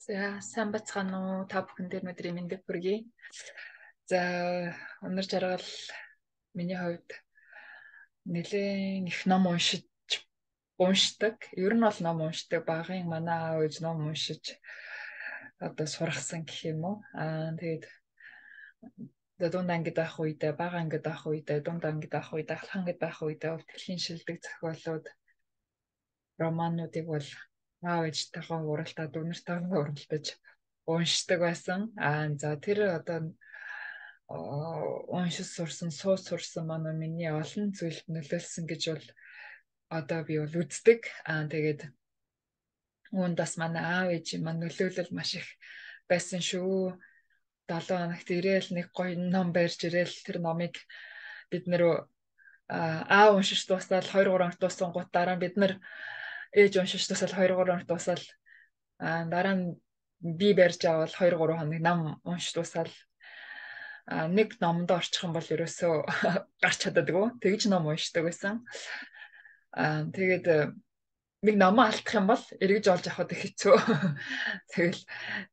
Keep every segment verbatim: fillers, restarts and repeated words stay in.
За сайн бацгаана уу та бүхэн дээр өдрийн мэндийг хүргэе. За өнөр жаргал миний хувьд нэлээд их ном уншиж уншдаг. Ер нь бол ном уншдаг. Багын манай аав ээж ном уншиж одоо сургасан гэх юм уу. Аа тэгээд дунд ангид байх үедээ, бага ангид байх үедээ, дунд ангид байх үедээ, ахлах ангид байх үедээ өвтгөлийн шилдэг зохиолууд, романуудыг бол аав ээжтэйгээ уралдаад, өнөртэйгээ уралдаж уншдаг байсан. Аа за тэр одоо уншиж сурсан, сууж сурсан манай миний олон зүйлд нөлөөлсөн гэж бол одоо би бол үздэг. Аа тэгээд үүнд бас манай аав ээжийн маань нөлөөлөл маш их байсан шүү. долоо хоногт ирээл нэг гоё ном барьж ирээл тэр номыг бид нэр аав уншиж дуусаад хоёр гурван хоног дууссан гут дараа нь бид нар ээж уншиж дуусаад хоёр гурван хоног дуусаад аа дараа нь би барьж авал хоёр гурван хоног ном уншиж дуусаад нэг номдоо орчих юм бол ерөөсөө гарч чаддаггүй. Тэгж ном уншдаг байсан. Аа тэгээд нэг номоо алдах юм бол эргэж олж авахд их хэцүү. Тэгэл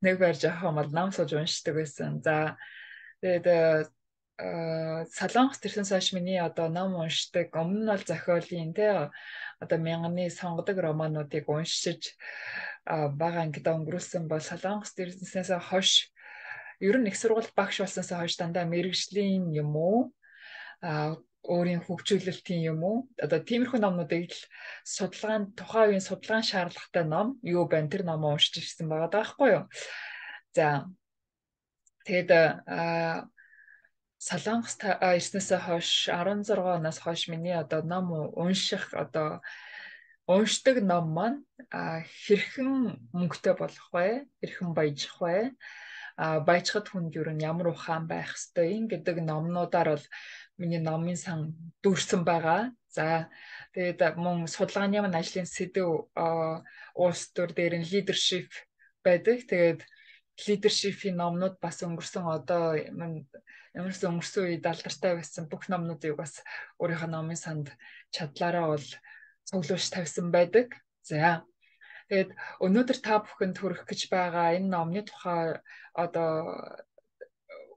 нэг барьж авах юм бол ном сууж уншдаг байсан. За тэгээд Солонгос төрснөөс хойш миний одоо ном уншдаг өмнө нь бол зохиолын те одоо мянганы сонгодог романуудыг уншиж бага ангид өнгөрүүлсэн бол Солонгос төрснөөс хойш ер нь их сургууль багш болсноос хойш дандаа мэрэгжлийн юм уу а өөрийн хөгжүүлэлтийн юм уу одоо тиймэрхүү номнуудыг л судалгаанд тухайн үеийн судалгаан шаардлагатай ном юу байна тэр номоо уншиж ирсэн байгаа даахгүй юу. За тэгээд а Солонгос ирснээс хойш арван зургаан оноос хойш миний одоо ном унших одоо уншдаг ном маань хэрхэн мөнгөтэй болох вэ? Хэрхэн баяжих вэ? А баяжхад хүнд юу н ямар ухаан байх ёстой юм гэдэг номнуудаар бол миний номын сан дүүрсэн байгаа. За тэгээд мөн судалгааны маань ажлын сэдв улс төр дээр нь leadership байдаг. Тэгээд leadership-ийн номнууд бас өнгөрсөн одоо ямарс өнгөрсөн үед алдартай байсан бүх номнуудыг бас өөрийнхөө номын санд чадлаараа бол цуглуулж тавьсан байдаг. За тэгээд өнөөдөр та бүхэнд хүргэх гэж байгаа энэ номны тухай одоо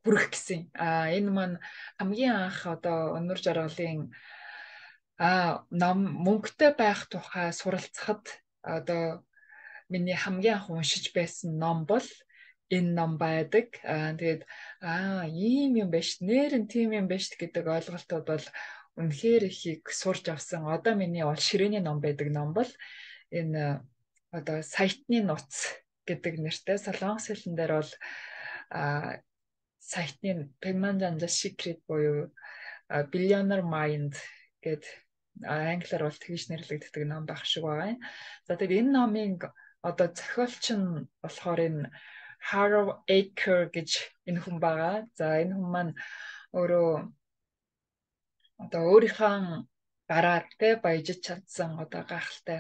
хүргэх гэсэн. А энэ маань хамгийн анх одоо өнөр жаргалын а ном мөнгөтэй байх тухай суралцахад одоо миний хамгийн анх уншиж байсан ном бол энэ ном байдаг. Аа тэгээд аа ийм юм биш, нэр нь тийм юм биш гэдэг ойлголтууд бол үнэхээр их сурч авсан. Одоо миний бол ширээний ном байдаг ном бол энэ одоо сайтны нууц гэдэг нэртэй солонгос хэлэн дээр бол а сайтны Pigman Janja's Secret буюу Billionaire Mind гэд англиар бол тэгж нэрлэгддэг ном байх шиг байгаа. За тэгээд энэ номын одоо зохиолч нь болохоор энэ Haro Aker гэж энэ хүн байгаа. За энэ хүн маань өөрөө одоо өөрийнхөө гараар тэ баяжиж чадсан одоо гайхалтай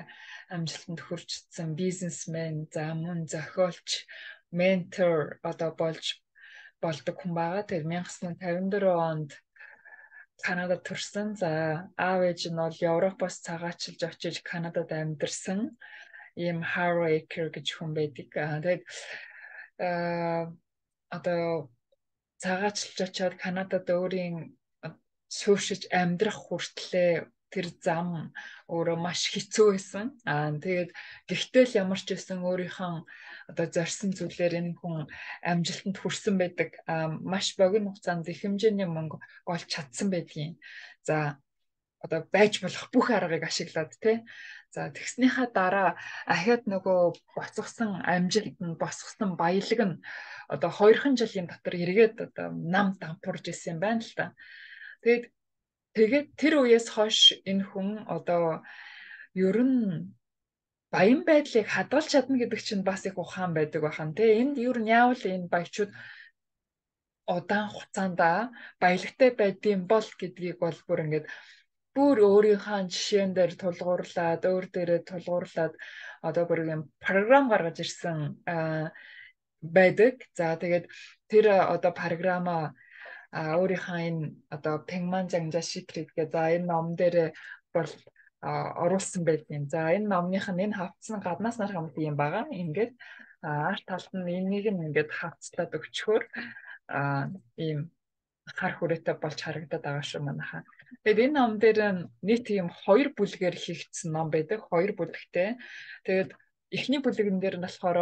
амжилтанд хүрчсэн бизнесмен, за мөн зохиолч, ментор одоо болж болдог хүн байгаа. Тэгээд 천аа зан тавин дөрвөн онд Канадад төрсэн. За аав ээж нь бол Европоос цагаачлж очиж Канадад амьдарсан ийм Haro Aker гэж хүн байдаг. Тэгээд а одоо цагаачлж очиод Канадад өөрийн сууршиж амьдрах хүртлээр тэр зам өөрөө маш хэцүү байсан. Аа тэгээд гэхдээ л ямар ч байсан өөрийнхөө одоо зорьсон зүйлээр энэ хүн амжилтанд хүрсэн байдаг. Аа маш богино хугацаанд их хэмжээний мөнгө олж чадсан байдгийн. За одоо байж болох бүх аргыг ашиглаад тий. За тэгснийхаа дараа ахиад нөгөө боцгосон амжилт нь босгосон баялаг нь одоо хоёрхан жилийн дотор эргээд одоо нам дампуурж исэн юм байна л та. Тэгээд тэгээд тэр үеэс хойш энэ хүн одоо ер нь баян байдлыг хадгалж чадна гэдэг чинь бас их ухаан байдаг бахан тий. Энд ер нь яавал энэ баячууд удаан хугацаанд баялагтай байдсан бол гэдгийг бол бүр ингээд бүр өөрийнхөө жишээн дээр тулгуурлаад өөр дээрээ тулгуурлаад одоо бүр юм програм гаргаж ирсэн байдаг. За тэгээд тэр одоо програма өөрийнхөө энэ одоо Pigman Janja's Secret гэдэг за энэ ном дээр бол оруулсан байдгийн. За энэ номных нь энэ хавцсан гаднаас нар хамт юм байгаа. Ингээд арт талд нь энийг нь ингээд хавцлаад өгчхөөр ийм хар хүрээтэй болж харагдаад байгаа шүү манайхаа. Тэгээд энэ ном дээр нийт ийм хоёр бүлгээр хийгдсэн ном байдаг. Хоёр бүлэгтэй. Тэгээд эхний бүлэгэн дээр нь болохоор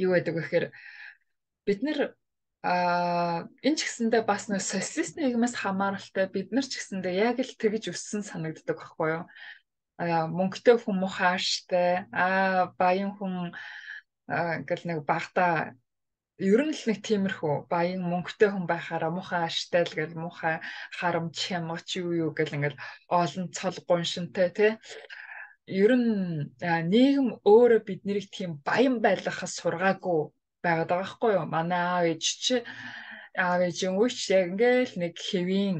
юу байдаг вэ гэхээр бид нэр а энэ ч гэсэндээ бас нэг социалист нийгмээс хамааралтай бид нар ч гэсэндээ яг л тэгж өссөн санагддаг байхгүй юу? А мөнгөтэй хүн мухааштай, а баян хүн гэл нэг багтаа ер нь л нэг тиймэрхүү баян мөнгөтэй хүн байхаараа мухаа аштай л гэл мухаа харамч хямгач юу юу гэл ингээл олон цол гуншинтай тий. Ер нь нийгэм өөрөө бид нарыг тийм баян байлгахаас сургаагүй байгаад байгаа байхгүй юу? Манай аав ээж чи аав ээжийн үеч яг ингээл нэг хэвийн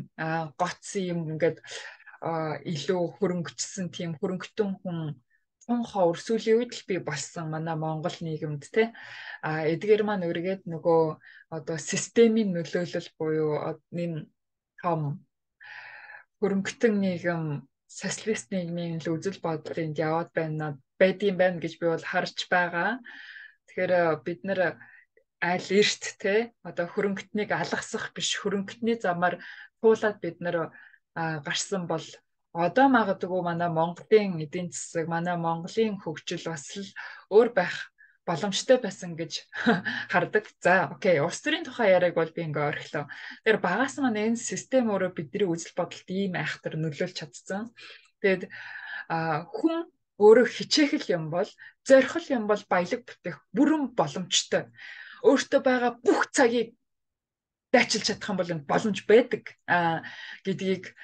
гоц юм ингээд илүү хөрөнгөчсөн тийм хөрөнгөтөн хүн тун ховор сүүлийн үед л би болсон манай Монгол нийгэмд те а эдгээр маань өргээд нөгөө одоо системийн нөлөөлөл буюу энэ том хөрөнгөтөн нийгэм социалист нийгмийн л үзэл бодлынд яваад байна байдсан байна гэж би бол харж байгаа. Тэгэхээр бид нэр аль эрт те одоо хөрөнгөтнийг алгасах биш хөрөнгөтний замаар туулаад бид нэр гарсан бол одоо магадгүй манай Монголын эдийн засаг манай Монголын хөгжил бас л өөр байх боломжтой байсан гэж хардаг. За окей, улс төрийн тухай яриаг бол би ингээ орхилоо. Тэр багаас маань энэ систем өөрөө бидний үзэл бодолд ийм айхтар нөлөөлж чадсан. Тэгэд хүн өөрөө хичээх юм бол зорих юм бол баялаг бүтээх бүрэн боломжтой. Өөртөө байгаа бүх цагийг дайчилж чадах юм бол энэ боломж байдаг а гэдгийг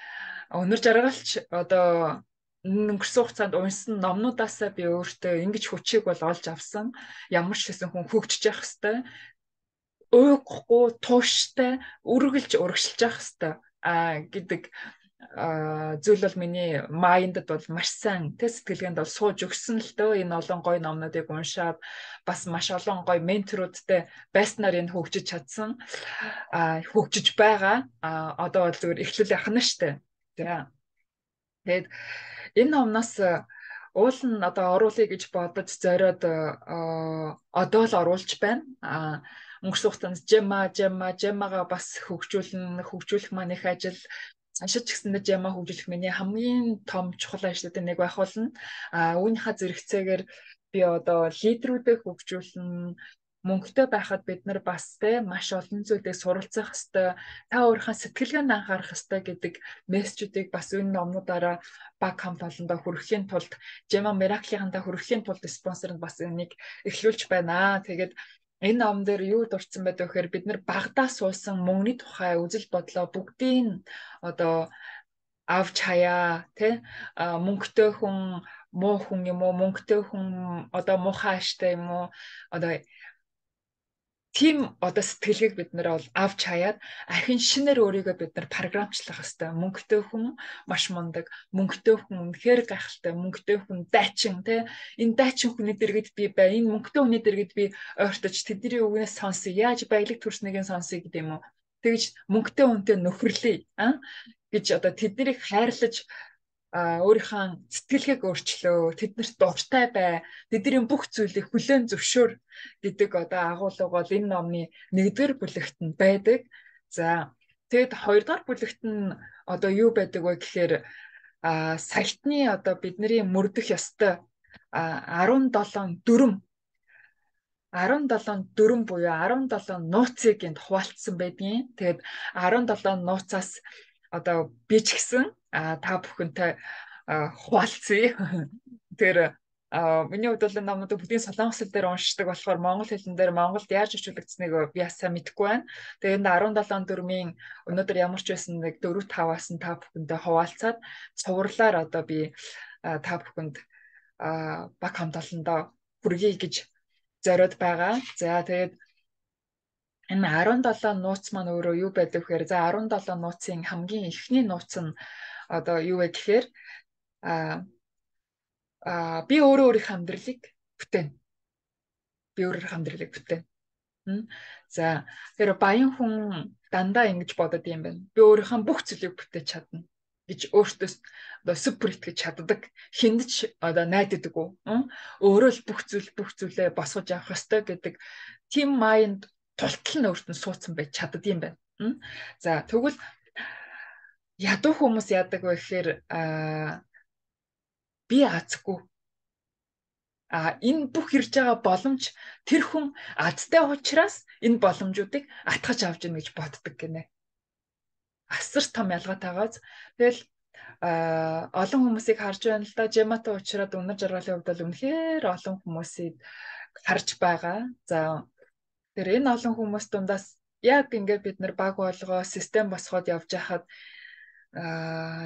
өнөр жаргалч одоо өнгөрсөн хугацаанд унсан номнуудаасаа би өөртөө ингэж хүчийг бол олж авсан. Ямар ч хэсэн хүн хөгжиж явах хэвээр уухгүй тууштай үргэлж урагшилж явах хэвээр а гэдэг зүйл бол миний майндд бол маш сайн тэ сэтгэлгээнд бол сууж өгсөн л дөө энэ олон гой номнуудыг уншаад бас маш олон гой менторуудтай байснаар энэ хөгжиж чадсан а хөгжиж байгаа а одоо бол зүгээр эхлэл яхна штэ. За тэгээд энэ номноос уул нь одоо оруулъя гэж бодож зориод одоо л оруулж байна а өнгөрсөн хугацаанд жема жема жемага бас хөгжүүлнэ хөгжүүлэх маань их ажил ашиж гэсэндээ жема хөгжүүлэх миний хамгийн том чухал ажлуудын нэг байх болно. А үүнийхээ зэрэгцээгээр би одоо лидерүүдэд хөгжүүлнэ мөнгөтэй байхад бид нар бас те маш олон зүйлийг суралцах хэвээр та өөрийнхөө сэтгэлгээнд анхаарах хэвээр гэдэг мессежүүдийг бас энэ номнуудаараа баг хамт олондоо хүргэхийн тулд Жема Miracle-ийнхантаа хүргэхийн тулд спонсор нь бас энийг эхлүүлж байна. Тэгээд энэ ном дээр юу дурдсан байдаг вэ гэхээр бид нар багадаа суусан мөнгөний тухай үзэл бодлоо бүгдийг одоо авч хаяа тий мөнгөтэй хүн муу хүн юм уу мөнгөтэй хүн одоо муухай аштай юм уу одоо тийм одоо сэтгэлгээг бид нэр бол авч хаяад ахин шинээр өөрийгөө бид нар програмчлах хэвээр мөнгөтэй хүн маш мундаг мөнгөтэй хүн үнэхээр гайхалтай мөнгөтэй хүн дайчин те энэ дайчин хүний дэргэд би бай энэ мөнгөтэй хүний дэргэд би ойртож тэдний үгнээс сонсъё яаж баялаг төрснгийг сонсъё гэдэг юм уу тэгж мөнгөтэй хүнтэй нөхөрлөе а гэж одоо тэднийг хайрлаж а өөрийнхөө сэтгэлгээг өөрчлөө тэднэрт дуртай бай тэдний бүх зүйлийг хүлээн зөвшөөр гэдэг одоо агуулга бол энэ номны нэгдүгээр бүлэгт нь байдаг. За тэгэд хоёрдугаар бүлэгт нь одоо юу байдаг вэ гэхээр а сайтны одоо бидний мөрдөх ёстой арван долоон дүрм арван долоон дүрм буюу арван долоон нууцыг энд хуваалцсан байдгийн. Тэгэд арван долоон нууцаас одоо би ч гэсэн та бүхэнтэй хуваалцъя. Тэр миний хувьд бол номнууд бүгдийн солонгос хэл дээр уншдаг болохоор монгол хэлэн дээр Монголд яаж орчуулагдсныг би ясаа мэдэхгүй байна. Тэгээд арван долоон дүрмийн өнөөдөр ямар ч байсан нэг дөрөв таваас нь та бүхэнтэй хуваалцаад цувралаар одоо би та бүхэнд баг хамт олондоо хүргэе гэж зориод байгаа. За тэгээд энэ арван долоон нууц маань өөрөө юу байдаг вэ гэхээр за арван долоон нууцын хамгийн эхний нууц нь одоо юу вэ гэхээр а а би өөрөө өөрийнхөө амьдралыг бүтээн. Би өөрийнхөө амьдралыг бүтээн. За тэр баян хүн дандаа ингэж бодод юм байна. Би өөрийнхөө бүх зүйлийг бүтээж чадна гэж өөртөө одоо супер итгэж чаддаг, хүнд ч одоо найддаггүй. Өөрөө л бүх зүйл бүх зүйлээ босгож явах ёстой гэдэг тийм майнд тултал нь өөртөө суудсан байж чаддаг юм байна. За тэгвэл ядуу хүмүүс яадаг вэ гэхээр би азгүй. А энэ бүх ирж байгаа боломж тэр хүн азтай учраас энэ боломжуудыг атгаж авч ийн гэж боддог гинэ. Асар том ялгаатайгаас тэгэл олон хүмүүсийг харж байна л да. Жематай уучраад үнэр жаргалын хувьд бол үнэхээр олон хүмүүсийг харж байгаа. За тэр энэ олон хүмүүс дундаас яг ингээд бид нар баг болгоо систем босгоод явж хахад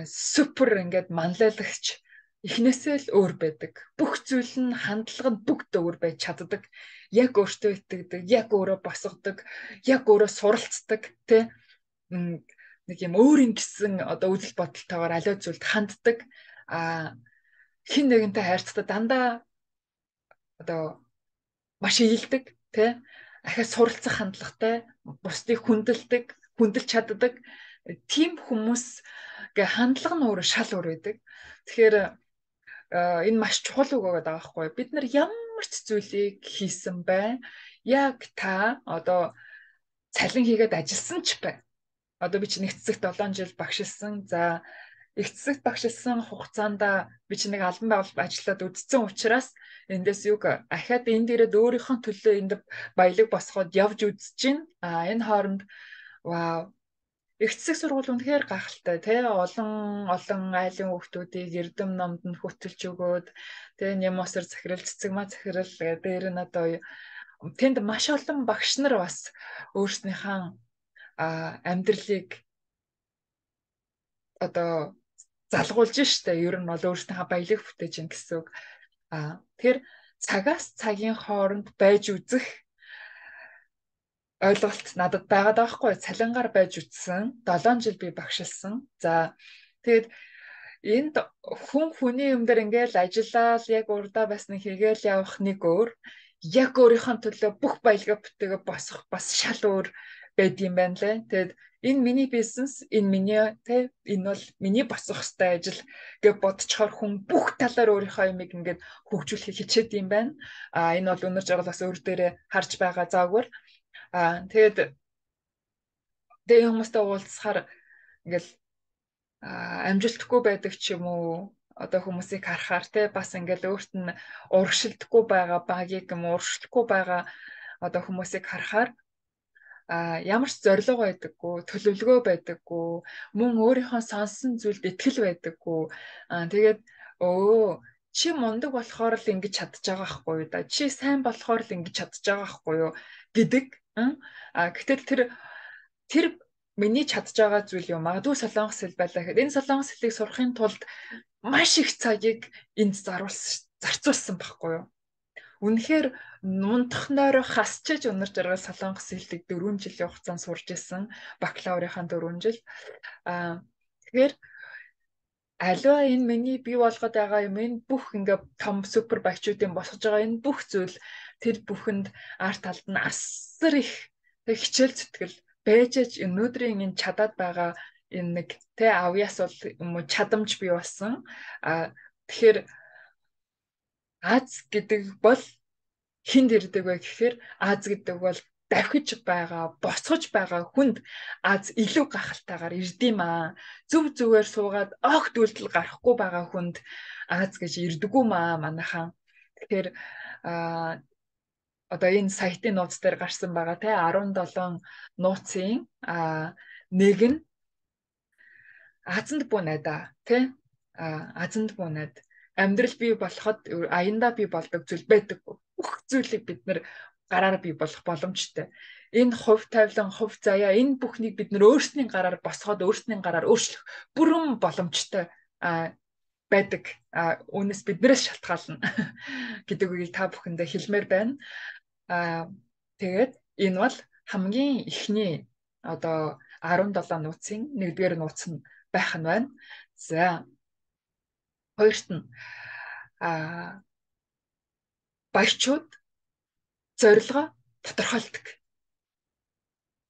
супер ингээд манлайлагч эхнээсээ л өөр байдаг. Бүх зүйл нь хандлага нь бүгд өөр байж чаддаг. Яг өөртөө итгэдэг, яг өөрөө босгодог, яг өөрөө суралцдаг, тэ нэг юм өөрийн гэсэн одоо үйл бодолтойгоор аливаа зүйлд ханддаг. А хин нэгэнтэй хайрцдаг дандаа одоо маш ийлдэг, тэ ахаа суралцах хандлагатай, бусдыг хүндэлдэг, хүндэлж чаддаг. Тим хүмүүсගේ хандлага нь өөрөө шал өөр байдаг. Тэгэхээр энэ маш чухал үг байгаа байхгүй. Бид нар ямар ч зүйлийг хийсэн бай. Яг та одоо цалин хийгээд ажилласан ч бай. Одоо би чи нэг цэцэгт долоон жил багшилсан. За их цэцэгт багшилсан хугацаанд би чи нэг албан байгуулалт ажиллаад үдцсэн учраас эндээс юг ахаад энд ирээд өөрийнхөө төлөө энд баялаг босгоод явж үзэж гин. А энэ хооронд вау их цэцэг сургууль үнэхээр гахалтай тий олон олон айлын хүүхдүүдийг эрдэм номд нь хөтөлж өгөөд тий нямосор захирал цэцэг ма захирал дээр нь одоо тэнд маш олон багш нар бас өөрснийхээ амьдралыг одоо залгуулж штэ ер нь бол өөрснийхээ баялаг бүтээж ин гэсэн үг. А тэр цагаас цагийн хооронд байж үзэх ойлголт надад байгаад байгаа хгүй. Цалингаар байж үтсэн. долоон жил би багшилсан. За тэгээд энд хүн хүний юм дээр ингээл ажиллаад яг урдаа бас нэг хийгээл явах нэг өөр. Яг өөрийнхөө төлөө бүх баялгаа бүтээгээ босгох бас шал өөр байд юм байна лээ. Тэгээд энэ миний бизнес, энэ миний тэ энэ бол миний босгох ёстой ажил гэж бодцохоор хүн бүх талаар өөрийнхөө юмыг ингээд хөгжүүлэх хичээд юм байна. А энэ бол өнөр жаргал бас өөр дээрээ харж байгаа заагвар. А тэгээд тэгээ хүмүүстэй уулзахаар ингээл амжилтгүй байдаг ч юм уу одоо хүмүүсийг харахаар те бас ингээл өөрт нь урагшилдаггүй байгаа багийг юм урагшлахгүй байгаа одоо хүмүүсийг харахаар а ямар ч зориг байдаггүй, төлөвлөгөө байдаггүй, мөн өөрийнхөө сонсон зүйлд итгэл байдаггүй. А тэгээд өө чи мундаг болохоор л ингэж чадж байгаа хгүй юу да. Чи сайн болохоор л ингэж чадж байгаа хгүй юу гэдэг. А гэтэл тэр тэр миний чадж байгаа зүйл юм. Магадгүй солонгос хэл байлаа гэхэд энэ солонгос хэлийг сурахын тулд маш их цагийг энд заруулсан зарцуулсан байхгүй юу? Үнэхээр нунтахноор хасчиж өнөр жаргал солонгос хэлийг дөрвөн жилийн хугацаанд сурж исэн. Бакалаврынхаа дөрвөн жил. Аа тэгэхээр аливаа энэ миний бий болгоод байгаа юм энэ бүх ингээ том супер багчуудын босгож байгаа энэ бүх зүйл тэр бүхэнд арт талд нь асар их хичээл зүтгэл байжж өнөөдрийн энэ чадаад байгаа энэ нэг тэ авьяас бол юм уу чадамж бий болсон. А тэгэхээр Аз гэдэг бол хинд ирдэг вэ гэхээр Аз гэдэг бол давхиж байгаа, босгож байгаа хүнд Аз илүү гахалтайгаар ирдэм аа. Зүв зүгээр суугаад огт үйлдэл гарахгүй байгаа хүнд Аз гэж ирдэггүй маа манайхан. Тэгэхээр а одоо энэ сайтын нууц дээр гарсан байгаа те арван долоон нууцын а нэг нь Азанд бунайда те а Азанд бунайд амьдрал бий болоход аяндаа бий болдог зүйл байдаг. Бүх зүйлийг бид нэр гараар бий болох боломжтой. Энэ хувь тавилан, хувь заяа энэ бүхнийг бид нэр өөрсдийн гараар босгоод өөрсдийн гараар өөрчлөх бүрэн боломжтой а байдаг. А үүнээс биднээс шалтгаална гэдэг үгийг та бүхэндээ хэлмээр байна. А тэгээд энэ бол хамгийн ихний одоо арван долоон нууцын нэгдүгээр нууц нь байх нь байна. За хоёрт нь а баячууд зорилгоо тодорхойлдог.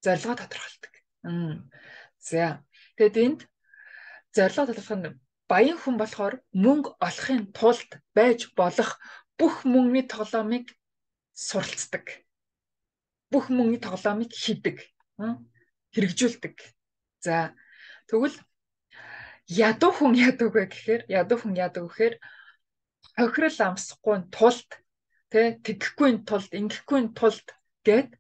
Зорилгоо тодорхойлдог. За тэгэд энд зорилго толгох нь баян хүн болохоор мөнгө олохын тулд байж болох бүх мөнгөний тоглоомыг суралцдаг. Бүх мөнгөний тоглоомыг хийдэг, хэрэгжүүлдэг. За тэгвэл ядуу хүн ядуу вэ гэхээр ядуу хүн ядуу гэхээр хохирол амсахгүй тулд тэ тэгэхгүй тулд ингэхгүй тулд гэд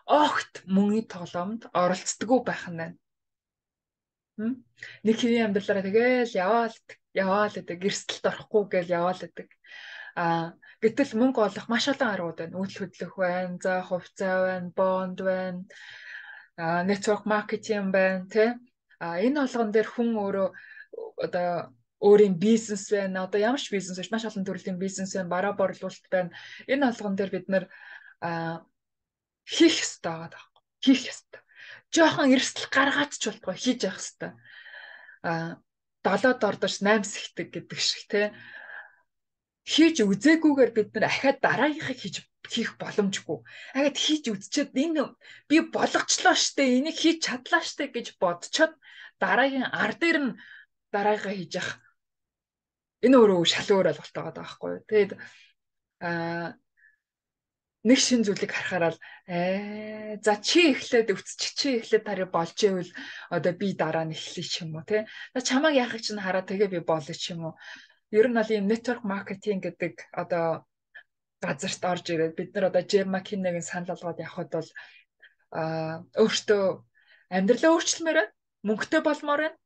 огт мөнгөний тоглоомд оролцдоггүй байх нь байна. Нэг хэний амьдралаараа тэгэл яваал яваал гэдэг гэрсэлд орохгүй гэл яваал гэдэг. А гэтэл мөнгө олох маш олон аргууд байна. Үйл хөдлөх байна, за хувьцаа байна, бонд байна, а network marketing байна, тэ. А энэ болгон дээр хүн өөрөө одоо өөрийн бизнес байна. Одоо ямар ч бизнес биш, маш олон төрлийн бизнес байна, бараа борлуулалт байна. Энэ болгон дээр бид нэр а хийх ёстой байгаа. Хийх ёстой. Жохон эрсдэл гаргаад ч болтгоо хийж явах ёстой. А долоод ордош наймс ихдэг гэдэг шиг те хийж үзээгүйгээр бид нар ахаад дараагийнхыг хийж хийх боломжгүй. Ахаад хийж үзчихэд энэ би болгочлоо штэ, энийг хийж чадлаа штэ гэж бодцоод дараагийн ар дээр нь дараагийнхаа хийж явах. Энэ өөрөө шал өөр ойлголт байгаа байхгүй юу. Тэгээд а нэг шин зүйлийг харахаар л ээ за чи эхлээд өвцч чи эхлээд тари болж ивэл одоо би дараа нь эхлэе ч юм уу те. Чамайг яахыг чинь хараад тэгээ би болно ч юм уу. Ер нь бол ийм network marketing гэдэг одоо газарт орж ирээд бид нар одоо Jim McKinney-гийн санал болгоод явхад бол а өөртөө амьдралаа өөрчлөмөр мөнгөтэй болмоор байна.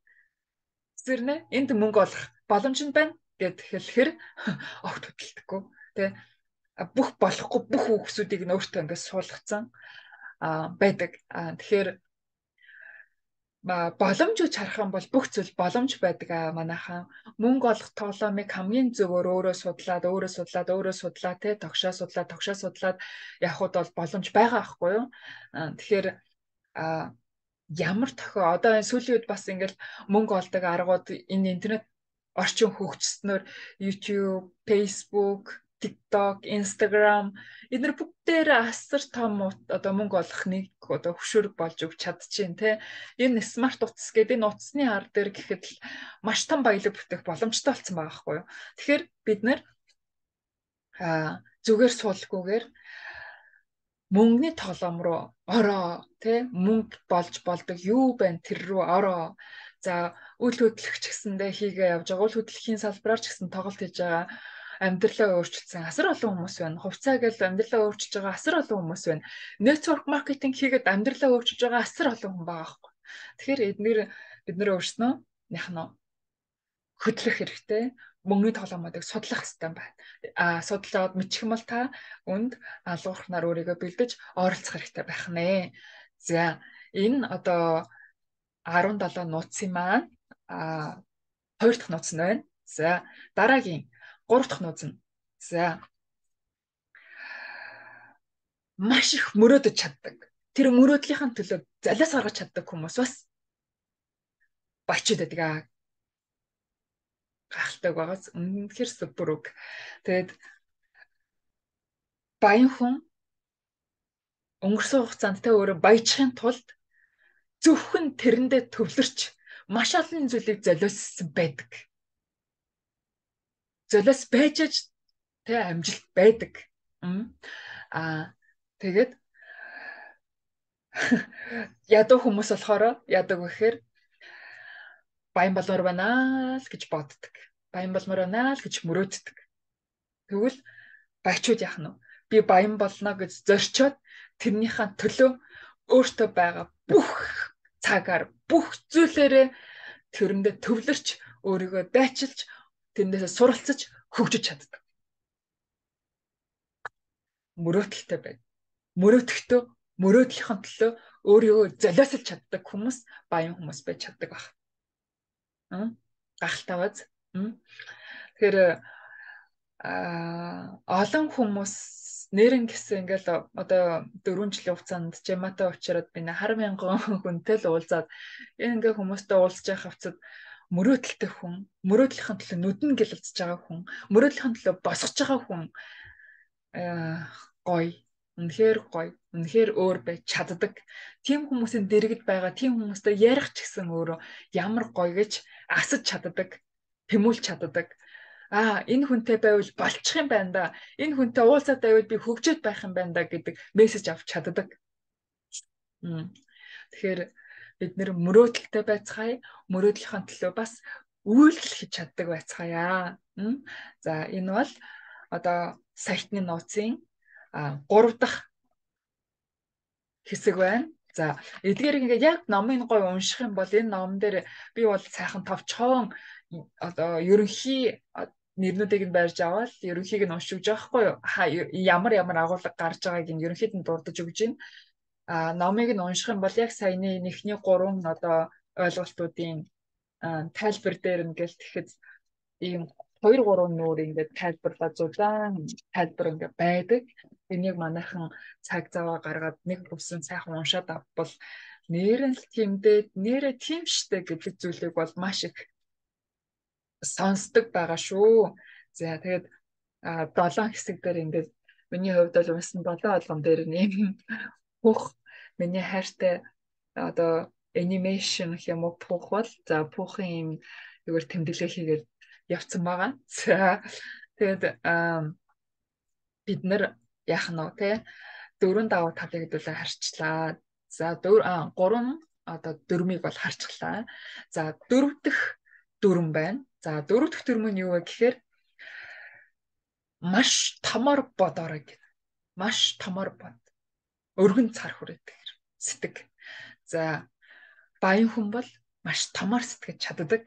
Зэрнэ энд мөнгө олох боломж нь байна гэд хэлэхэр огт хөдөлдөггүй тий. Бүх болохгүй бүх үгсүүдийг нь өөртөө ингээд суулгацсан а байдаг. А тэгэхээр боломж гэж харах юм бол бүх зүйл боломж байдаг а манайхан. Мөнгө олох тоглоомыг хамгийн зөвөр өөрөө судлаад өөрөө судлаад өөрөө судлаад те тогшоо судлаад тогшоо судлаад явхад бол боломж байгаа байхгүй юу. Тэгэхээр а ямар тохио одоо энэ сүүлийн үед бас ингээл мөнгө олдог аргууд энэ интернет орчин хөгжснөөр YouTube, Facebook, TikTok, Instagram эдгээр бүгдээр асар том одоо мөнгө олох нэг одоо хөшөөрөг болж өгч чадчихээн те. Энэ смарт утас гэдэг энэ утасны ар дээр гэхэд маш том баялаг бүтээх боломжтой болсон байгаа байхгүй юу. Тэгэхээр бид нэр а зүгээр суулгагүйгээр мөнгөний тоглоом руу ороо те мөнгө болж болдог юу байна тэр рүү ороо. За үйл хөдлөх ч гэсэндээ хийгээ явж байгаа. Үйл хөдлөхийн салбараар ч гэсэн тоглолт хийж байгаа. Амьдралаа өөрчилсөн асар олон хүмүүс байна. Хувьцаа гэж амьдралаа өөрчилж байгаа асар олон хүмүүс байна. Network marketing хийгээд амьдралаа өөрчилж байгаа асар олон хүн байгаа байхгүй. Тэгэхээр эдгээр бид нэр өөрснөө яхнаа хөдлөх хэрэгтэй. Мөнгөний тоглоомуудыг судлах хэрэгтэй байна. А судлаад мэдчих юм бол та үнд алуурхнаар өөрийгөө бэлдэж оролцох хэрэгтэй байх нэ. За энэ одоо арван долоо нууцын маань а хоёр дахь нууц нь байна. За дараагийн гурав дахь нууц нь. За маш их мөрөөдөж чаддаг. Тэр мөрөөдлийнхаа төлөө залиас гаргаж чаддаг хүмүүс бас бачид байдаг аа. Гахалтай байгаас үнэхээр супер үг. Тэгээд баян хүн өнгөрсөн хугацаанд тэ өөрөө баяжхын тулд зөвхөн тэрэндээ төвлөрч маш олон зүйлийг золиоссон байдаг. Золиос байж аж тэ амжилт байдаг. Аа тэгээд ядуу хүмүүс болохоор яадаг вэ гэхээр баян болмоор байна л гэж боддог. Баян болмоор байна л гэж мөрөөддөг. Тэгвэл баячууд яах нь вэ? Би баян болно гэж зорчоод тэрнийхээ төлөө өөртөө байгаа бүх цагаар бүх зүйлээрээ тэрэндээ төвлөрч өөрийгөө дайчилж тэндээсээ суралцаж хөгжиж чаддаг. Мөрөөдөлтэй байна. Мөрөөдөлтөө мөрөөдлийнхөө төлөө өөрийгөө золиослж чаддаг хүмүүс баян хүмүүс байж чаддаг баг. Гахалтай баз. Тэгэхээр а олон хүмүүс нэрэн гэсэн ингээл одоо дөрвөн жилийн хугацаанд жамаатай уучраад би хар мянган хүнтэй л уулзаад энэ ингээ хүмүүстэй уулзж байх хавцад мөрөөдөлтэй хүн, мөрөөдлийнхөө төлөө нүдэн гэлэлцэж байгаа хүн, мөрөөдлийнхөө төлөө босгож байгаа хүн гоё. Үнэхээр гоё, үнэхээр өөр байж чаддаг. Тим хүмүүсийн дэргэд байгаа тийм хүмүүстэй ярих ч гэсэн өөрөө ямар гоё гэж асаж чаддаг, тэмүүлж чаддаг. Аа, энэ хүнтэй байвал болчих юм байна да. Энэ хүнтэй уулзаад байвал би хөгжөөд байх юм байна да гэдэг мессеж авч чаддаг. Тэгэхээр бид нэр мөрөөдөлтэй байцгаая, мөрөөдлийнхөө төлөө бас үйлдэл хийж чаддаг байцгаая. За энэ бол одоо сайтны нууцын гурав дахь хэсэг байна. За эдгээр ингээд яг номын гой унших юм бол энэ ном дээр би бол сайхан товчхон одоо ерөнхий нэрнүүдийг нь барьж аваад ерөнхийг нь уншиж байгаа байхгүй юу? Ямар ямар агуулга гарч байгааг нь ерөнхийд нь дурдж өгж байна. А номыг нь унших юм бол яг саяны нэгний гурван одоо ойлголтуудын тайлбар дээр ингээл тэгэхэд ийм хоёр гурван нүүр ингээд тайлбарлаад зузаан тайлбар ингээд байдаг. Энийг манайхан цаг заваа гаргаад нэг бүсэн сайхан уншаад авбал нэрэн л тэмдээд нэрэ тийм штэ гэдэг зүйлийг бол маш их сонсдог байгаа шүү. За тэгээд долоон хэсэг дээр ингээд миний хувьд бол унсан долоон болгон дээр нэм пүх миний хайртай одоо анимашн гэх юм уу пүх бол за пүхийн юм зүгээр тэмдэглээ хийгээд явцсан байгаа. За тэгээд бид нэр яах нь вэ те дөрөв даваа талыг хэдүүлээ харчлаа. За дөрөв гурван одоо дөрмийг бол харчлаа. За дөрөв дэх дүрм байна. За дөрөв дэх дүрм нь юу вэ гэхээр маш томор бодорой гэх. Маш томор бод. Өргөн цар хүрээдэг сэтг. За баян хүн бол маш томор сэтгэж чаддаг.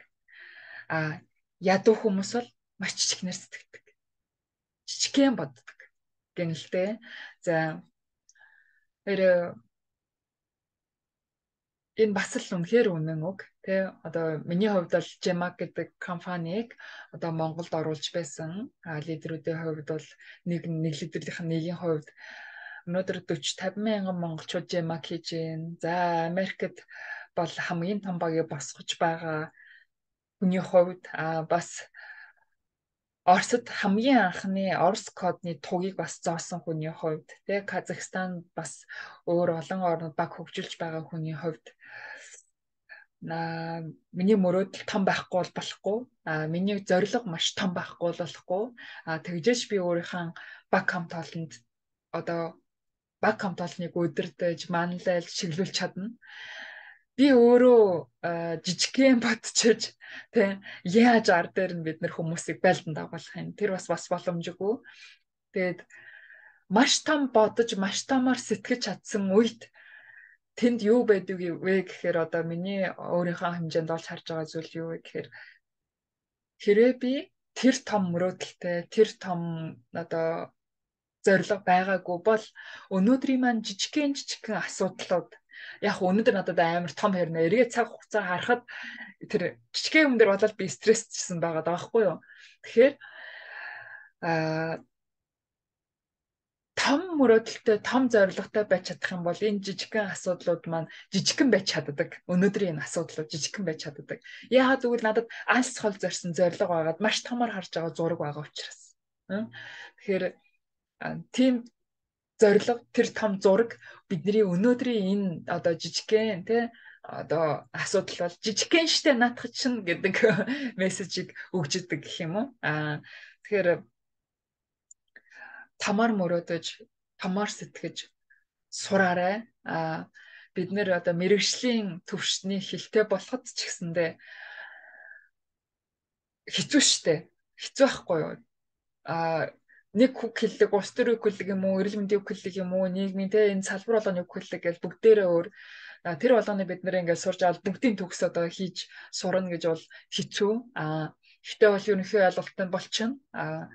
А ядуу хүмүүс бол маш жижигнэр сэтгэдэг. Жижигхэн боддог гэнэлтэй. За тэр энэ бас л үнэхээр үнэн үг тий одоо миний хувьд бол Gemac гэдэг компанийг одоо Монголд оруулж байсан лидерүүдийн хувьд бол нэг нэг лидерлийнх нь нэгийн хувьд өнөөдөр forty fifty мянган монголчууд Gemac хийж байна. За Америкт бол хамгийн том багийг босгож байгаа хүний хувьд а бас Оросд хамгийн анхны Орос кодны тугийг бас зоосон хүний хувьд тий Казахстан бас өөр олон орнууд баг хөгжүүлж байгаа хүний хувьд на миний мөрөөдөл том байхгүй бол болохгүй а миний зорилго маш том байхгүй бол болохгүй а тэгжээч би өөрийнхөө баг хамт олонд одоо баг хамт олныг удирдах манлайлж чиглүүлж чадна. Би өөрөө жижигхэн бодчихж тий яаж ар дээр нь бид нэр хүмүүсийг байлдан дагуулах юм. Тэр бас бас боломжгүй. Тэгээд маш том бодож, маш томор сэтгэж чадсан үед тэнд юу байдаг вэ гэхээр одоо миний өөрийнхөө хэмжээнд олж харж байгаа зүйл юу вэ гэхээр хэрвээ би тэр том мөрөөдөлтэй, тэр том одоо зорилго байгаагүй бол өнөөдрийн маань жижигхэн жижигхэн асуудлууд яг өнөөдөр надад амар том хэрнэ эргээ цаг хугацаа харахад тэр жижигхэн юм дээр болоод би стрессчсэн байгаа даахгүй юу. Тэгэхээр а том мөрөөдөлтэй том зорилготой байж чадах юм бол энэ жижигхэн асуудлууд маань жижигхэн байж чаддаг. Өнөөдрийн энэ асуудлууд жижигхэн байж чаддаг. Яагаад гэвэл надад алс хол зорьсон зорилго байгаад маш томор харж байгаа зураг байгаа учраас. Тэгэхээр тийм зорилго тэр том зураг бидний өнөөдрийн энэ одоо жижигхэн тий одоо асуудал бол жижигхэн штэ наадах чинь гэдэг мессежийг өгж идэг гэх юм уу. Аа тэгэхээр тамаар мөрөөдөж, тамаар сэтгэж сураарай. Аа бид нэр одоо мэрэгжлийн төвшний хилтэй болоход ч гэсэндээ хэцүү штэ. Хэцүү байхгүй юу? Аа нэг үг хэллэг, улс төр үг хэллэг юм уу, эрүүл мэндийн үг хэллэг юм уу, нийгмийн те энэ салбар болгоны үг хэллэг гэж бүгдээрээ өөр тэр болгоны бид нэр ингээд сурж аваад бүгдийн төгс одоо хийж сурна гэж бол хэцүү. Аа гэхдээ бол ерөнхий ойлголттой болчихно. Аа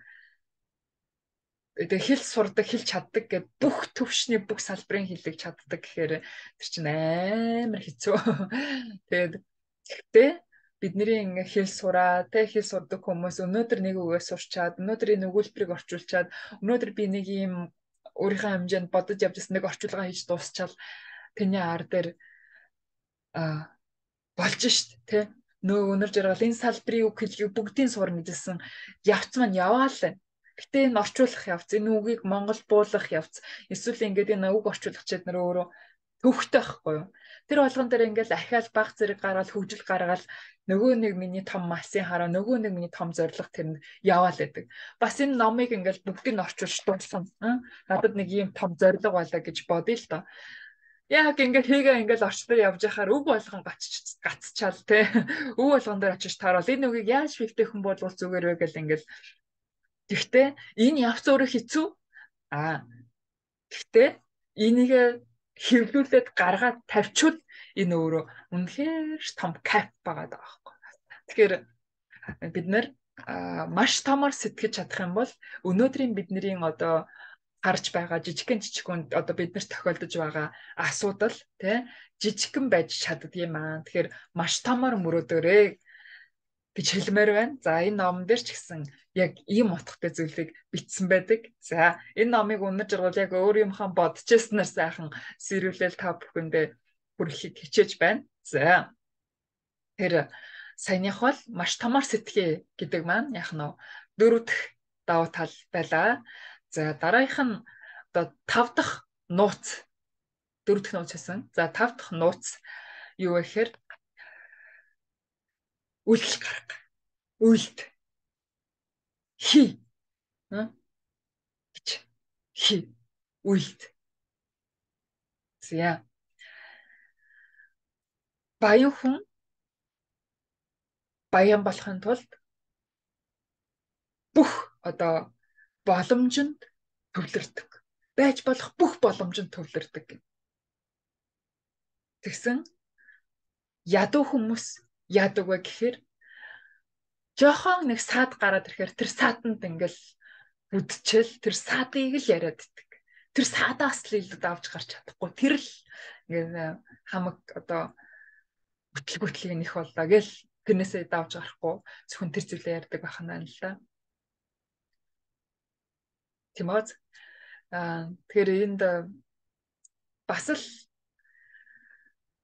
тэгээ хэл сурдаг, хэл чаддаг гэд бүх төвшний бүх салбарын хэлийг чаддаг гэхээр тэр чинь амар хэцүү. Тэгээд гэхдээ бидний ингээ хэл сураа, тэ хэл сурдаг хүмүүс өнөөдөр нэг үгээ сурчаад, өнөөдөр энэ өгүүлбэрийг орчуулчаад, өнөөдөр би нэг юм өөрийнхөө хэмжээнд бодож явж байсан нэг орчуулга хийж дуусчаал тэний ар дээр а болж шít, тэ нөө өнөр жаргал энэ салбарын үг хэллэгийг бүгдийн сурна гэжсэн явц маань яваа л. Гэтэ энэ орчуулах явц, энэ үгийг Монгол буулгах явц, эсвэл ингээд энэ үг орчуулагч нар өөрөө төвхтэй байхгүй юу? Тэр болгон дээр ингээд ахиал баг зэрэг гаргаад хөгжил гаргаад нөгөө нэг миний том малсын хараа, нөгөө нэг миний том зориг тэрэнд яваал байдаг. Бас энэ номыг ингээд бүгдийг нь орчуулж дуусгана. Надад нэг ийм том зориг байлаа гэж бодъё л доо. Яг ингээд хийгээ ингээд орчлоо явж байхаар үг болгон гацч гацчаал те. Үг болгон дээр очиж таарвал энэ үгийг яаж шивтэйхэн болгох зүгээр вэ гэл ингээд. Гэхдээ энэ явц өөрөө хэцүү. Аа. Гэхдээ энийг хэвлүүлээд гаргаад тавьчвал энэ өөрөө үнэхээр том кайф байгаа даа байхгүй. Тэгэхээр бид нэр маш томор сэтгэж чадах юм бол өнөөдрийн бидний одоо харж байгаа жижигхэн жижигхэн одоо биднэрт тохиолдож байгаа асуудал тий жижигхэн байж чаддгийм аа. Тэгэхээр маш томор мөрөөдөрөө гэж хэлмээр байна. За энэ номон дээр ч гэсэн яг ийм утгатай зүйлийг бичсэн байдаг. За энэ номыг өнөр жаргал яг өөр юмхан бодчихснаар сайхан сэрүүлэл та бүхэндээ хүрэхийг хичээж байна. За тэр саяных бол маш томор сэтгэе гэдэг маань яг нь дөрөв дэх давуу тал байлаа. За дараагийнх нь одоо тав дахь нууц дөрөв дэх нууц гэсэн. За тав дахь нууц юу вэ гэхээр үйлдэл гарга. Үйлд хий гэж хий үйлд. За баян хүн баян болохын тулд бүх одоо боломжинд төвлөрдөг. Байж болох бүх боломжинд төвлөрдөг. Тэгсэн ядуу хүмүүс яадаг вэ гэхээр жохон нэг саад гараад ирэхээр тэр саатанд ингээл үдчил тэр саадыг л яриад иддэг. Тэр саадаас л илүү давж гарч чадахгүй. Тэр л ингээд хамаг одоо бүтэл бүтлийг нэх боллоо гэл тэрнээсээ давж гарахгүй зөвхөн тэр зүйлээ ярьдаг байх нь л да. Тимоз аа тэгэхээр энд бас л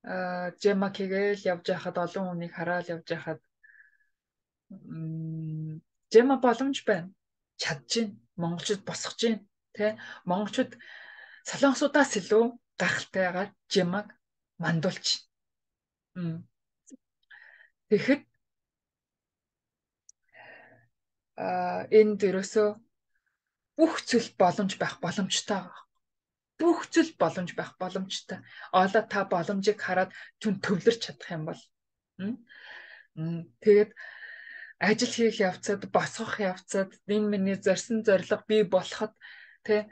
аа Жемакигээл явж байхад олон хүнийг хараад явж байхад Жема боломж байна. Чадчихээн. Монголчууд босгож гин тэ монголчууд солонгосуудаас илүү гахалтайгаар Жемаг мандуулж. Тэгэхэд а энд ерөөсөө бүх зүйл боломж байх боломжтой байгаа. Бүх зүйл боломж байх боломжтой. Оолоо та боломжийг хараад түн төвлөрч чадах юм бол тэгээд ажил хийх явцад босгох явцад энэ миний зорьсон зорилго бий болоход тэ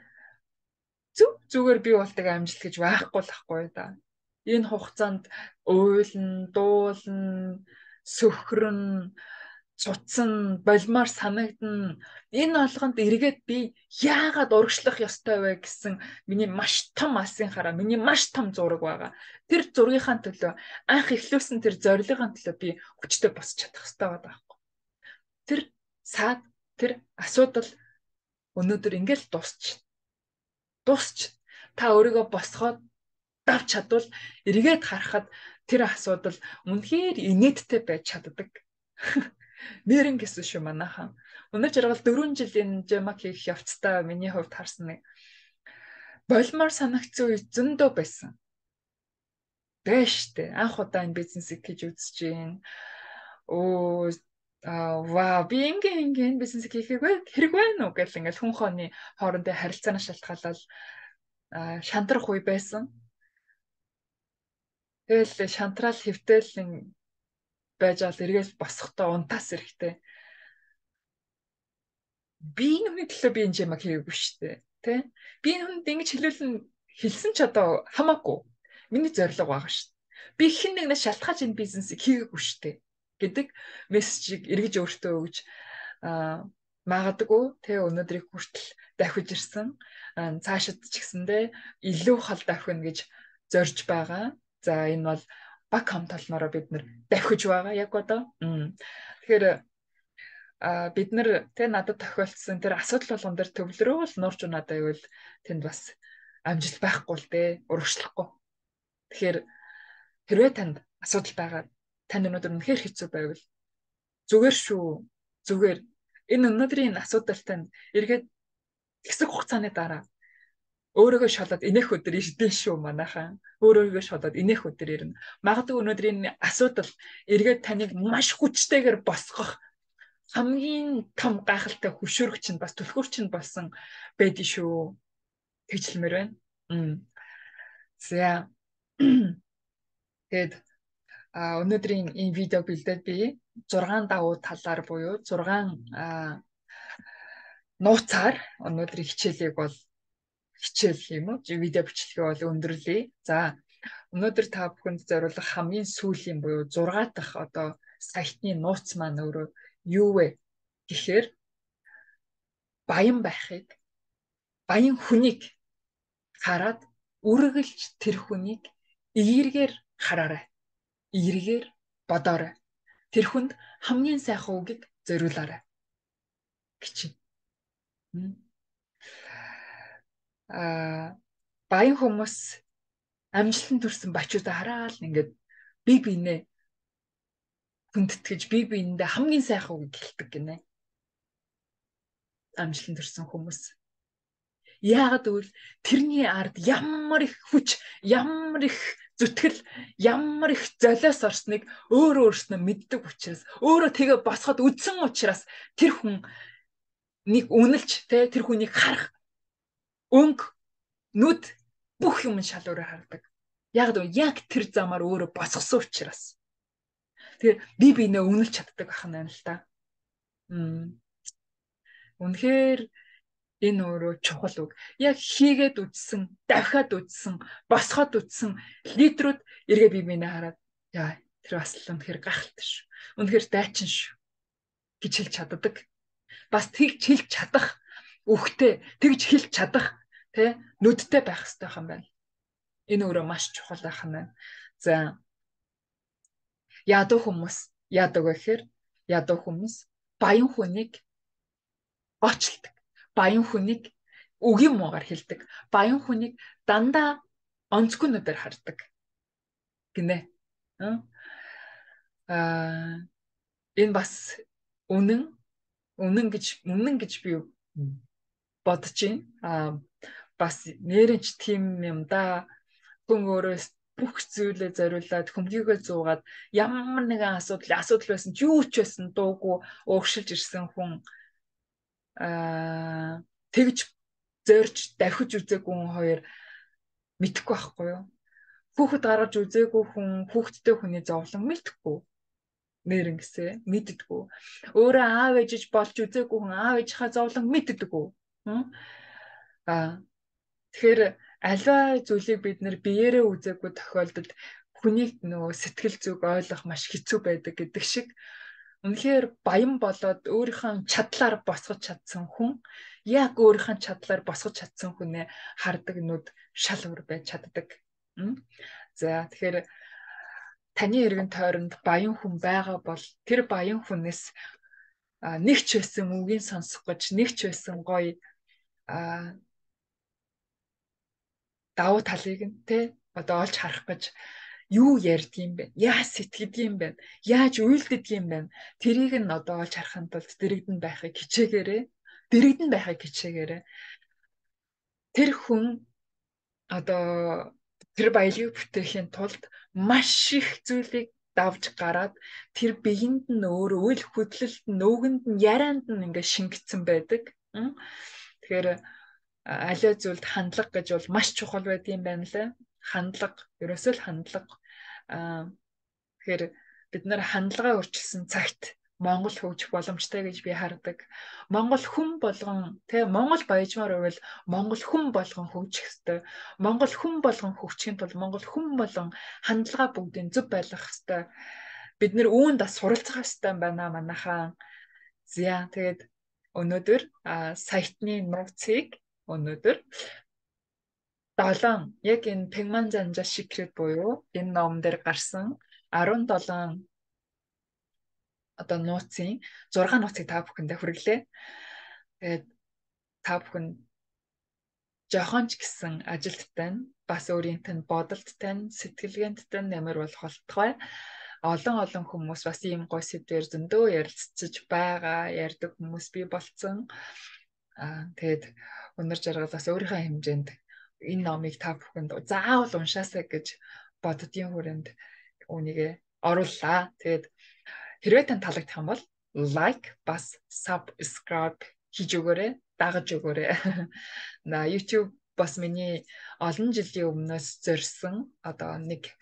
зүг зүгээр бий болдог амжилт гэж байхгүй л ахгүй да. Энэ хугацаанд уйлн, дуулн, сөхрөн, цуцсан, болмоор санагдна. Энэ олгонд эргээд би яагаад урагшлах ёстой вэ гэсэн миний маш том алсын хараа, миний маш том зураг байгаа. Тэр зургийнхаа төлөө анх эхлүүлсэн тэр зорилгын төлөө би хүчтэй босч чадах хэрэгтэй байгаа байхгүй. Тэр саад, тэр асуудал өнөөдөр ингээл дуусч. Дуусч. Та өөрийгөө босгоод давч чадвал эргээд харахад тэр асуудал үнэхээр инээдтэй байж чаддаг. Нэрэн гэсэн шүү манайхан. Өнөө жаргал дөрвөн жилийн Жемак хийх явцдаа миний хувьд харсан нэг болмоор санагцсан үе зөндөө байсан. Бэштэй. Анх удаа энэ бизнесийг хийж үзэж гин. Оо аа ваа би ингийн ингийн бизнесийг хийхийг хэрэг байна уу гэл ингээл хүн хооны хоорондын харилцааны шалтгаалал шантрах үе байсан. Тэгэл шантраал хэвтэл байж ал эргээс босохдоо унтаас эрэхтэй. Би нүний төлөө би энэ Жемак хийгээгүй шүү дээ. Тэ? Би нүнд ингэж хэлүүлэн хэлсэн ч одоо хамаагүй. Миний зорилго байгаа шүү дээ. Би хэн нэгнээс шалтгааж энэ бизнесийг хийгээгүй шүү дээ гэдэг мессежийг эргэж өөртөө өгж аа магадгүй тэ өнөөдрийг хүртэл давхиж ирсэн. Цаашид ч гэсэндээ илүү хол давхина гэж зорж байгаа. За энэ бол баг хам толноороо бид нэр давхиж байгаа яг одоо. Тэгэхээр а бид нар тэ надад тохиолдсон тэр асуудал болгон дээр төвлөрөөл нуурч надад байвал тэнд бас амжилт байхгүй л дээ, урагшлахгүй. Тэгэхээр хэрвээ танд асуудал байгаа, танд өнөөдөр үнэхээр хэцүү байвал зүгээр шүү. Зүгээр Энэ өнөөдрийн асуудалтай нь эргээд хэсэг хугацааны дараа өөрийгөө шалаад инех өдөр ирдэн шүү манайхан. Өөрийгөө шалаад инех өдөр ирнэ. Магадгүй өнөөдрийн асуудал эргээд таныг маш хүчтэйгээр босгох хамгийн том гайхалтай хөшөөрөгч нь бас түлхүүрч нь болсон байдгийн шүү. Тэгжлэмээр байна. За. Тэгэд а өнөөдрийн энэ видео бэлдээд би зургаан давуу талаар буюу зургаан нууцаар өнөөдрийн хичээлийг бол хичээл юм уу? Видео бичлэгээ бол өндөрлөе. За өнөөдөр та бүхэнд зориулах хамгийн сүүлийн буюу зургаа дахь одоо сайтны нууц маань өөрөө юу вэ гэхээр баян байхыг, баян хүнийг хараад үргэлж тэр хүнийг эергээр хараарай. Эергээр бодоорой. Тэр хүнд хамгийн сайхан үгийг зориулаарай гэж. Аа баян хүмүүс амжилтанд хүрсэн бачуудаа хараад ингээд би бинээ хүндэтгэж би биендээ хамгийн сайхан үг хэлдэг гинэ. Амжилтанд хүрсэн хүмүүс. Яагаад гэвэл тэрний ард ямар их хүч, ямар их зүтгэл, ямар их золиос орсныг өөрөө өөрснөө мэддэг учраас, өөрөө тэгээ босгоод үдсэн учраас тэр хүн нэг үнэлж тэ тэр хүнийг харах өнг нүд бүх юм шалуураар хардаг. Яг л яг тэр замаар өөрөө босгосон учраас. Тэгээ би бинээ үнэлж чаддаг ах нь л та. Мм. Үнэхээр энэ өөрөө чухал үг. Яг хийгээд үдсэн, давхаад үдсэн, босгоод үдсэн лидерүүд эргээ би бинээ хараад яа тэр бас л үнэхээр гахалтай шүү. Үнэхээр дайчин шүү гэж хэлж чаддаг. Бас тэгж хэлж чадах үхтэй, тэгж хэлж чадах тэ нүдтэй байх хэрэгтэй юм байна. Энэ өөрөө маш чухал байх юм байна. За ядуу хүмүүс яадаг вэ гэхээр ядуу хүмүүс баян хүнийг очлдог. Баян хүнийг үгийн муугаар хэлдэг. Баян хүнийг дандаа онцгүй нүдээр хардаг. Гинэ. Аа энэ бас үнэн үнэн гэж үнэн гэж би бодож байна. Аа бас нэрэнч тийм юм да. Хүн өөрөөс бүх зүйлээ зориулаад хөмгийгөө зуугаад ямар нэгэн асуудал асуудал байсан ч юу ч байсан дуугүй ууршилж ирсэн хүн аа тэгж зорж давхиж үзээгүй хүн хоёр мэдхгүй байхгүй юу? Хүүхэд гаргаж үзээгүй хүн хүүхэдтэй хүний зовлон мэдхгүй. Нэрэн гэсэ мэддэггүй. Өөрөө аав ээжиж болж үзээгүй хүн аав ээжийнхаа зовлон мэддэггүй. Аа тэгэхээр аливаа зүйлийг бид нэр биеэрээ үзээгүй тохиолдолд хүнийг нөгөө сэтгэл зүг ойлгох маш хэцүү байдаг гэдэг шиг үнэхээр баян болоод өөрийнхөө чадлаар босгож чадсан хүн яг өөрийнхөө чадлаар босгож чадсан хүнээ хардаг нүд шал өөр байж чаддаг. За тэгэхээр таны эргэн тойронд баян хүн байгаа бол тэр баян хүнээс нэг ч байсан үгийг сонсох гэж нэг ч байсан гоё давуу талыг нь те одоо олж харах гэж юу ярьд юм бэ? Яаж сэтгэдэг юм бэ? Яаж үйлддэг юм бэ? Тэрийг нь одоо олж харахын тулд дэрэгдэн байхыг хичээгээрэй. Дэрэгдэн байхыг хичээгээрэй. Тэр хүн одоо тэр баялагийг бүтээхийн тулд маш их зүйлийг давж гараад тэр биеинд нь өөр үйл хөдлөлт нөгөөнд нь ярианд нь ингээ шингэцэн байдаг. Тэгэхээр аливаа зүйлд хандлага гэж бол маш чухал байдаг юм байна лээ. Хандлага, ерөөсөө л хандлага. Аа тэгэхээр бид нар хандлагаа өөрчилсөн цагт Монгол хөгжих боломжтой гэж би хардаг. Монгол хүн болгон тий Монгол баяжмаар байвал Монгол хүн болгон хөгжих ёстой. Монгол хүн болгон хөгжихийн тулд Монгол хүн болгон хандлага бүгдийн зөв байлгах ёстой. Бид нэр үүнд бас суралцах ёстой байна манайхаа. За тэгээд өнөөдөр сайтны нууцыг өнөөдөр долоон яг энэ Пэгман Занжа Secret буюу энэ ном дээр гарсан арван долоон одоо нууцын зургаан нууцыг та бүхэндээ хүргэлээ. Тэгээд та бүхэн жоохон ч гэсэн ажилттай нь бас өөрийнх нь бодолттой нь сэтгэлгээнттэй нь ямар болох болтугай. олон олон хүмүүс бас ийм гоё сэдвээр зөндөө ярилцж байгаа, ярьдаг хүмүүс бий болцсон. Аа тэгээд өнөр жаргал бас өөрийнхөө хэмжээнд энэ номыг та бүхэнд заавал уншаасаа гэж боддгийн хүрээнд үүнийгээ орууллаа. Тэгээд хэрвээ тань таалагдах юм бол лайк бас subscribe хийж өгөөрэй, дагаж өгөөрэй. На YouTube бас миний олон жилийн өмнөөс зорьсон одоо нэг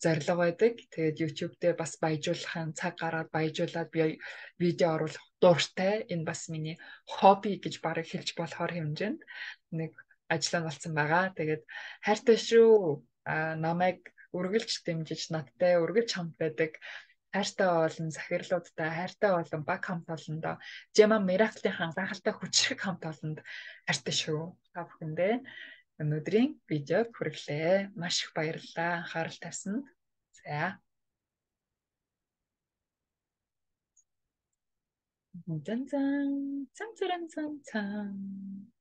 зорилго байдаг. Тэгээд YouTube дээр бас баяжуулахын цаг гараад баяжуулаад би видео оруулах дуртай. Энэ бас миний хобби гэж бараг хэлж болохоор хэмжээнд нэг ажлаа болсон байгаа. Тэгээд хайртай шүү. А намайг үргэлж дэмжиж надтай үргэлж хамт байдаг хайртай олон захирлуудтай, хайртай олон баг хамт олондоо Жема Miracle-ийн гайхалтай хүчрэг хамт олонд хайртай шүү. Та бүхэндээ өнөөдрийн видеог хүргэлээ. Маш их баярлалаа анхаарал тавьсанд. За. Зан зан зан зан зан зан.